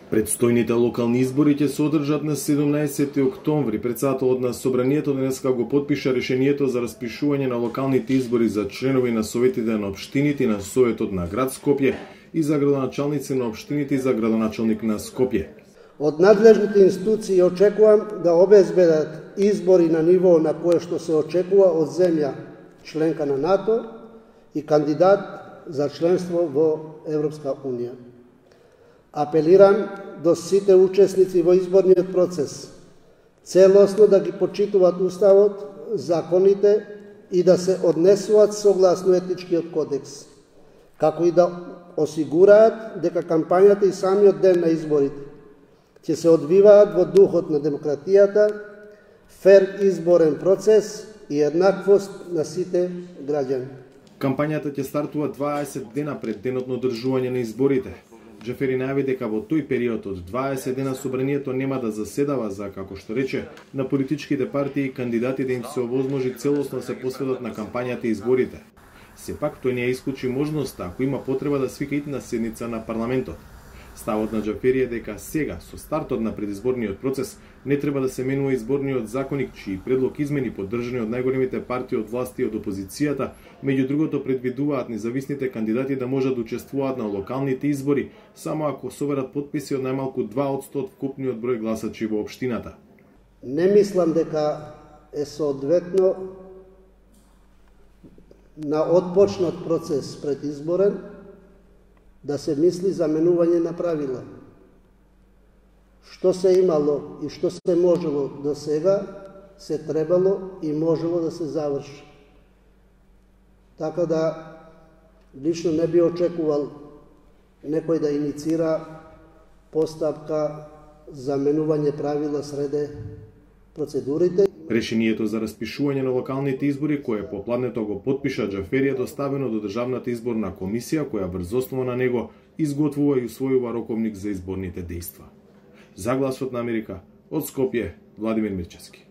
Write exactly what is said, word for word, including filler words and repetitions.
Предстојните локални избори ќе се одржат на седумнаесети октомври. Председателот на Собранието денеска го потпиша решението за распишување на локалните избори за членови на советите на општините и на Советот на град Скопје и за градоначалници на општините и за градоначалник на Скопје. Од надлежните институции очекувам да обезбедат избори на ниво на кое што се очекува од земја членка на НАТО и кандидат за членство во Европска унија. Апелирам до сите учесници во изборниот процес целосно да ги почитуваат уставот, законите и да се однесуваат согласно етичкиот кодекс, како и да осигураат дека кампањата и самиот ден на изборите ќе се одвиваат во духот на демократијата, фер изборен процес и еднаквост на сите граѓани. Кампањата ќе стартува дваесет дена пред денот на одржување на изборите. Џафери најави дека во тој период од дваесет дена Собранието нема да заседава за, како што рече, на политичките партии и кандидати да им се овозможи целосно да се посветат на кампањата и изборите. Сепак тој не ја исклучи можноста ако има потреба да свика итна седница на парламентот. Ставот на Џафери е дека сега, со стартот на предизборниот процес, не треба да се менува изборниот законник, чии предлог измени поддржани од најголемите партии од власти и од опозицијата, меѓу другото предвидуваат независните кандидати да можат да учествуваат на локалните избори само ако соберат потписи од најмалку два одсто од вкупниот број гласачи во општината. Не мислам дека е соодветно на отпочнат процес предизборен да се мисли за менување на правила. Што се имало и што се можело до сега, се требало и можело да се заврши. Така да, лично не би очекувал некој да иницира постапка за менување правила среде процедурите. Решението за распишување на локалните избори, кое попладнето го потпиша Џафери, е доставено до Државната изборна комисија, која врз основа на него изготвува и усвојува роковник за изборните дејства. За Гласот на Америка, од Скопје, Владимир Мирчевски.